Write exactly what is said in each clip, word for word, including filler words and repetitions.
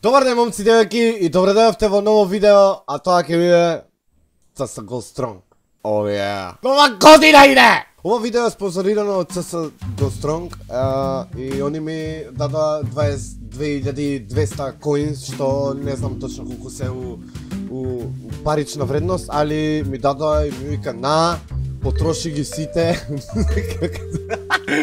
Добар ден, момци, девојки, и добре дојавте во ново видео, а тоа ќе биде Ц С Go Strong. Oh yeah. Нова година иде! Ова видео е спонзорирано од Ц С Go Strong и они ми дадоа дваесет две илјади и двесте коинс, што не знам точно колку се у, у парична вредност, али ми дадоа и ми вика на потроши ги сите.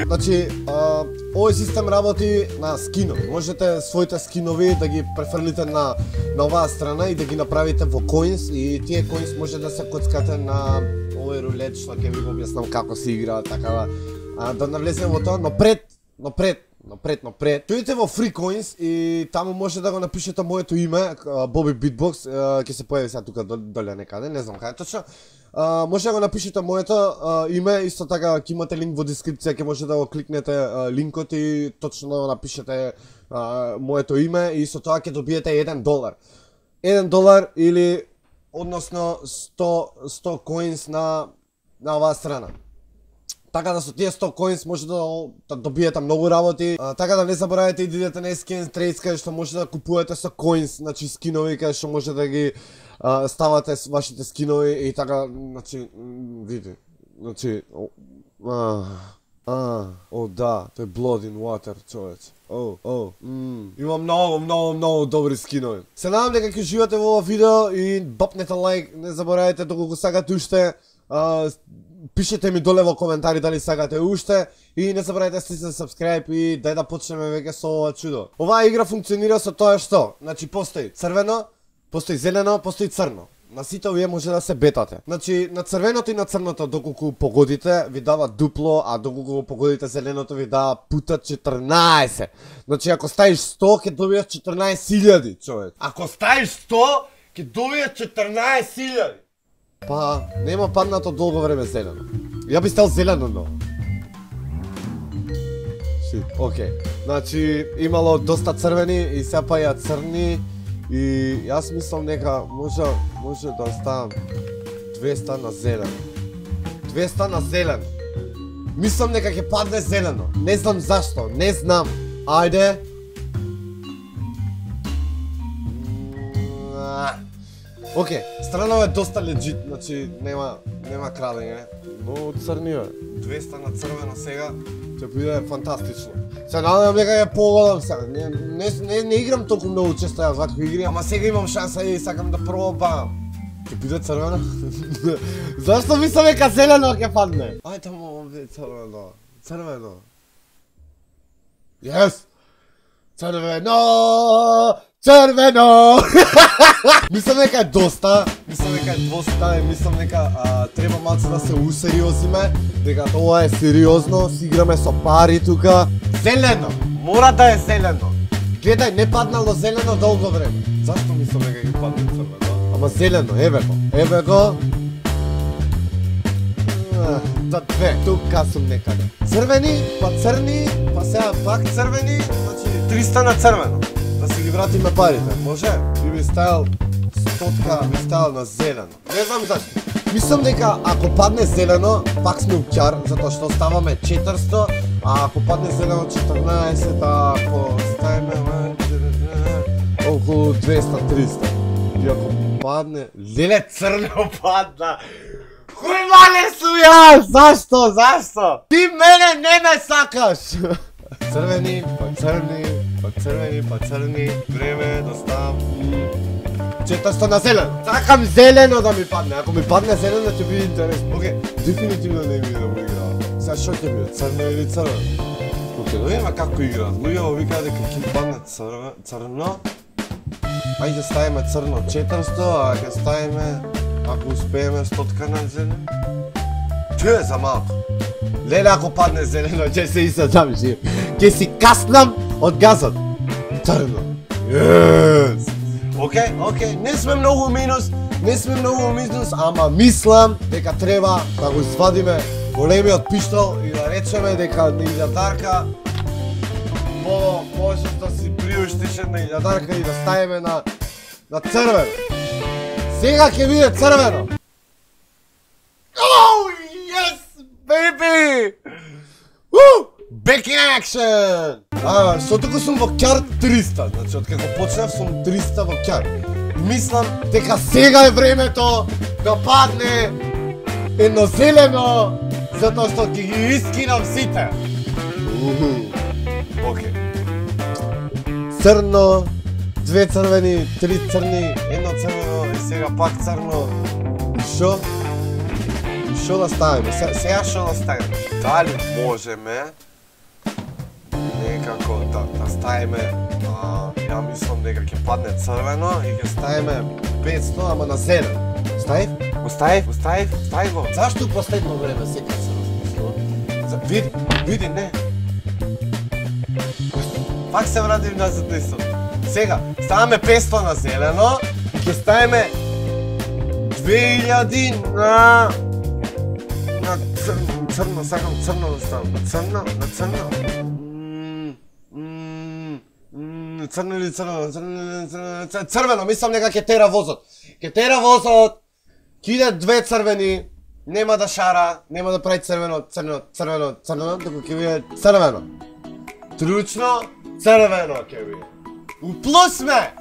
Значи, а, овој систем работи на скинови. Можете своите скинови да ги префрлите на на оваа страна и да ги направите во коинс, и тие коинс може да се коцкате на овој рулет што ќе ви го објаснам како се игра, така да, да навлеземе во тоа, но пред, но пред Напред, напред. Тојдете во Free Coins и таму може да го напишете моето име, Боби Beatbox, ќе се појави сега тука доле некаде, не знам каде точно. Може да го напишете моето име, исто така ќе имате линк во дескрипција, ќе може да го кликнете линкот и точно напишете моето име и со тоа ќе добиете еден долар. еден долар или односно сто коинс на на оваа страна. Така да со тие сто коинс може да, да добиете многу работи. А, така да не заборавајте и да идете на Skin Trades каде што може да купувате со коинс, значи скинови каде што може да ги а, ставате вашите скинови и така, значи види. Значи а а о да, тој Blood in Water, човече. О, о, мм. Има многу, многу, многу добри скинови. Се надам дека ќе живеете во ова видео и бапнете лайк, не заборавајте доколку сакате уште. А, пишете ми доле во коментари дали сакате уште и не забравајте да стиснете subscribe и дај да почнеме веќе со ова чудо. Оваа игра функционира со тоа што, значи постои црвено, постои зелено, постои црно. На сите овие може да се бетате. Значи на црвеното и на црното доколку погодите ви дава дупло, а доколку погодите зеленото ви дава пута четрнаесет. Значи ако ставиш сто ќе добиеш четрнаесет илјади, човек. Ако ставиш сто ќе добиеш четрнаесет илјади. Па, нема паднато долго време зелено. Ја би стал зелено, но. Шит, окей. Значи, имало доста црвени и се паја црни и јас мислам дека може може да оставам двесте на зелено. двесте на зелено. Мислам дека ќе падне зелено. Не знам зашто, не знам. Ајде. Океј, странава е доста легит, значи нема нема крадење, но црни е. двесте на црвено сега ќе биде фантастично. Се надевам дека ја погодам сега. Не, не, не, не играм толку многу често јас вакви игри, ама сега имам шанса и сакам да пробам. Ќе биде црвено? Зашто мислам дека зелено ќе падне? Ајде таму биде црвено. Црвено. Јес! Црвено! Црвено! Мислам дека е доста, мислам дека е доста, мислам дека а, треба малце да се усериозиме, дека тоа е сериозно, си играме со пари тука. Зелено! Мора да е зелено! Гледај, не паднало зелено долго време. Зашто мислам дека ќе падне црвено? Ама зелено, еве го, еве го. За две, тука сум некаде. Црвени, па црни, па сега пак црвени, значи триста на црвено. Да си ги вратиме парите, може? Би би ставил стотка, би ставил на зелено. Не знам зашто. Мислам дека ако падне зелено, пак сме укјар, затоа што ставаме четиристо, а ако падне зелено четрнаесет, а ако ставиме околу двесте триста. И ако падне... Леле, црно падна! Кој мале су јас? Зашто? Зашто? Ти мене не ме сакаш! Црвени, па црни, па црвени, па црни, време да ставам четиристо на зелено. Сакам зелено да ми падне, ако ми падне зелено ќе биде интересно. Океј, дефинитивно не ми да го играва. Сега шо ќе биде, црно или црвено? Океј, да видиме како играат. Луѓето викаат дека ќе падне црно. Ајде ставиме црно четиристо, а ќе ставиме, ако успееме, стотка на зелено. Чуе за малку. Леле, ако падне зелено, ќе се исадам жив. Ќе си каснам од газот. Црно. Јес! Океј, океј, не сме многу минус, не сме многу минус, ама мислам дека треба да го извадиме големиот пиштол и да речеме дека на илјадарка по можеш да си приуштиш една илјадарка и да ставиме на на црвено. Сега ќе биде црвено. Oh, yes, baby! Woo! Back in action! А, што туку сум во ќар триста, значи од како почнав сум триста во ќар. Мислам дека сега е времето да падне едно зелено, затоа што ќе ги искинам сите. Океј. Црно, две црвени, три црни, едно црвено и сега пак црно. И шо? И шо да ставиме? Сега шо да ставиме? Дали можеме некако да, да ставиме, а, ја мислам дека ќе падне црвено и ќе ставиме петсто, ама на зелен. Ставив? Оставив? Оставив? Ставив го. Зашто последно време сега се размислува? Види, види, не. Пак се вратим назад на истото. Сега, ставаме петсто на зелено и ќе ставиме две илјади на... на црно, црно, сакам црно да ставам. На црно, на црно. Црно или црно, црно, црвено, мислам дека ќе тера возот. Ќе тера возот, ќе иде две црвени, нема да шара, нема да прави црвено, црвено, црвено, црвено, туку ќе биде црвено. Тручно, црвено ќе биде. У плюс сме!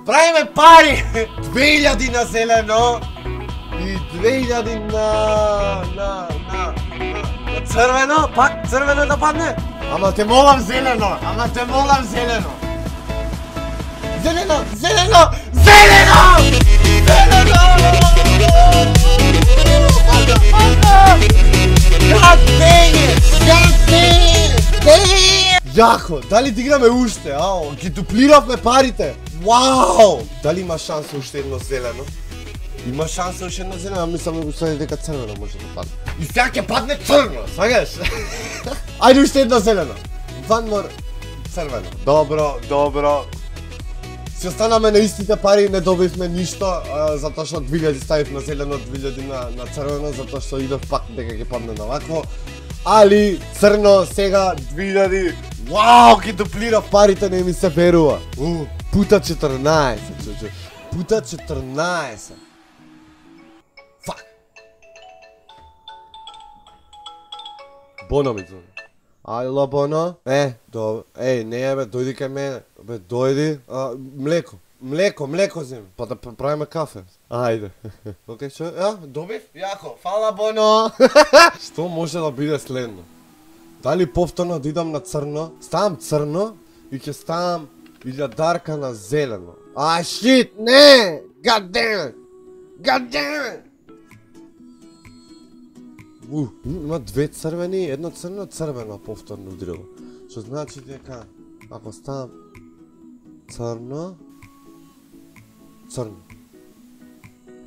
Правиме пари! две илјади на зелено и две илјади на... на... на... на црвено, пак црвено да падне. Ама те молам зелено, ама те молам зелено. Зелено, зелено, зелено! Зелено! God dang it! God dang it! Јако, дали да играме уште, ао? Ги дуплиравме парите. Вау! Дали има шанса уште едно зелено? Има шанса уште едно зелено, а мислам да го стави дека црвено може да падне. И сега ќе падне црно, свагаш? Ајде уште едно зелено. One more црвено. Добро, добро. Се останаме на истите пари, не добивме ништо, а, затоа што две илјади ставив на зелено, две илјади на, на црвено, затоа што идов пак дека ќе падне на вакво. Али црно сега две илјади. Вау, ќе дуплира парите, не ми се верува. У, пута четрнаесет, чучу. Пута четрнаесет. Фак. Боно ми звони. Ало, Боно? Е, добро. Еј, не бе, дојди кај мене. Бе, дојди. А, млеко. Млеко, млеко земи. Па да правиме кафе. Ајде. Океј, што? Ја, добив? Јако. Фала, Боно. Што може да биде следно? Дали повторно да идам на црно? Ставам црно и ќе ставам илјадарка на зелено. А, шит, не! God damn it! God damn it! У, има две црвени, едно црно, црвено повторно удрило. Што значи дека ако ставам црно, црно,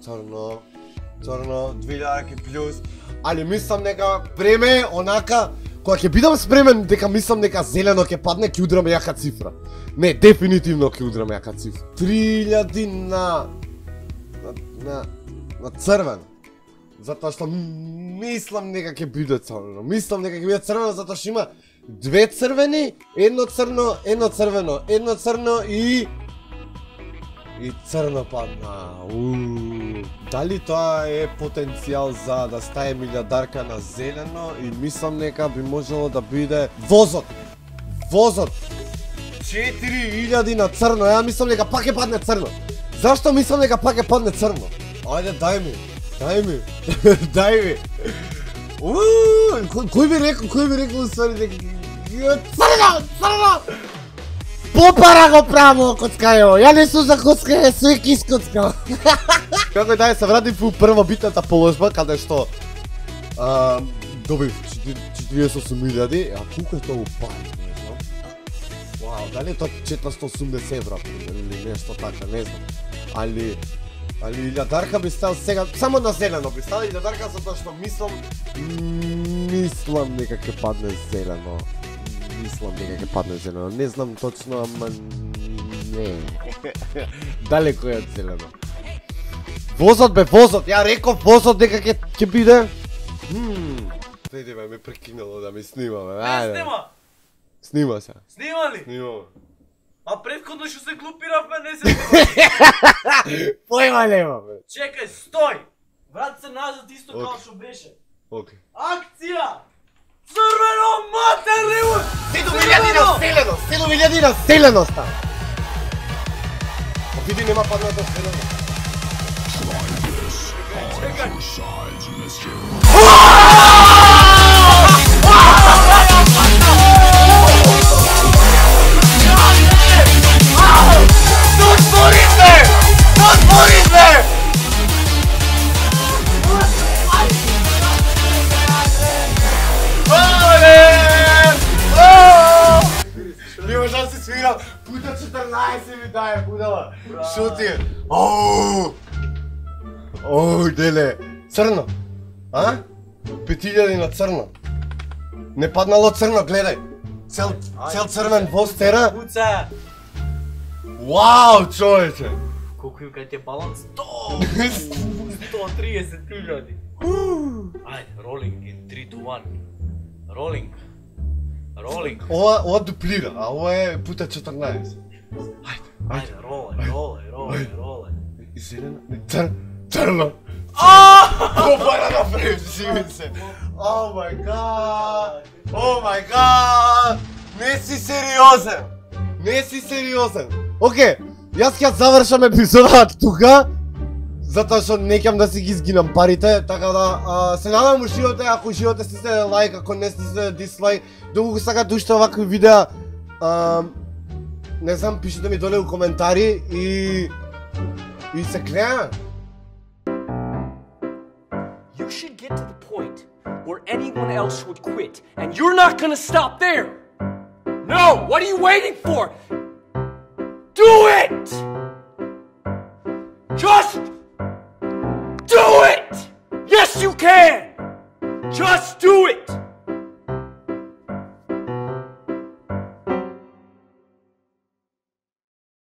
црно, црно, две илјадарки плюс, али мислам дека време онака, кога ќе бидам спремен дека мислам дека зелено ќе падне, ќе удрам јака цифра. Не, дефинитивно ќе удрам јака цифра. три илјади на на на, на црвено. Затоа што мислам дека ќе биде црвено. Мислам дека ќе биде црвено затоа што има две црвени, едно црно, едно црвено, едно црно и и црно падна. Уу. Дали тоа е потенцијал за да ставим илјадарка на зелено и мислам дека би можело да биде возот. Возот. четири илјади на црно. Ја мислам дека пак ќе падне црно. Зашто мислам дека пак ќе падне црно? Ајде дај ми. Дај ми. Дај ми. Уу, кој би рекол, кој би рекол ствари дека црно, црно. Попара го право коцкајо. Ја не сум за коцкање, све ки искоцкал. Како дај се вратив у првобитната положба каде што а, добив четириесет и осум илјади, а колку е тоа у пари, не знам. Вау, дали е тоа четиристотини и осумдесет евра или нешто така, не знам. Али Али илјадарка би стал сега, само на зелено би стал илјадарка затоа што мислам мислам дека ќе падне зелено. Мислам дека ќе падне зелено. Не знам точно, ама не. Далеко е од зелено. Возот бе, возот. Ја реков возот дека ќе ќе биде. Хм. Види ме, ме прекинало да ми снима, бе. Не снима. Снима се. Снима ли? Снима. А предходно што се глупиравме, не се снима. Појма нема, бе. Чекај, стој. Врати се назад исто како што беше. Океј. Акција! Црвено матерливо! седум илјади на селено, седум илјади на селено става. Види нема паднато селено. Чекај. Don't put it there! Don't put it there! Не можам да се свирам. Пута четрнаесет ми дае, будала. Шо ти е? Оу! Оу, деле. Црно. А? пет илјади на црно. Не паднало црно, гледај. Цел, цел црвен воз тера. Пуца! Вау, човече! Колку им кај ти е баланс? сто! сто триесет илјади. Ајде, ролинг in три to one. Ролинг. Ролинг. Ова, ова дуплира, а ова е пута четрнаесет. Ајде, ајде, ролај, ролај, ролај, ролај. И зелено, цр, црно. Ааа! Копара напред, живи се. О мај гад! О мај гад! Не си сериозен! Не си сериозен! Океј, јас ќе завршам епизодата тука, затоа што не ќам да си ги изгинам парите, така да а, се надам ушивате, ако ушивате стисне лайк, ако не стисне дислайк, доколку го сакате уште овакви видеа, а, не знам, пишете ми доле у коментари и и се гледа. You should get to the point where anyone else would quit, and you're not gonna stop there. No, what are you waiting for? Do it! Just do it! Yes, you can! Just do it!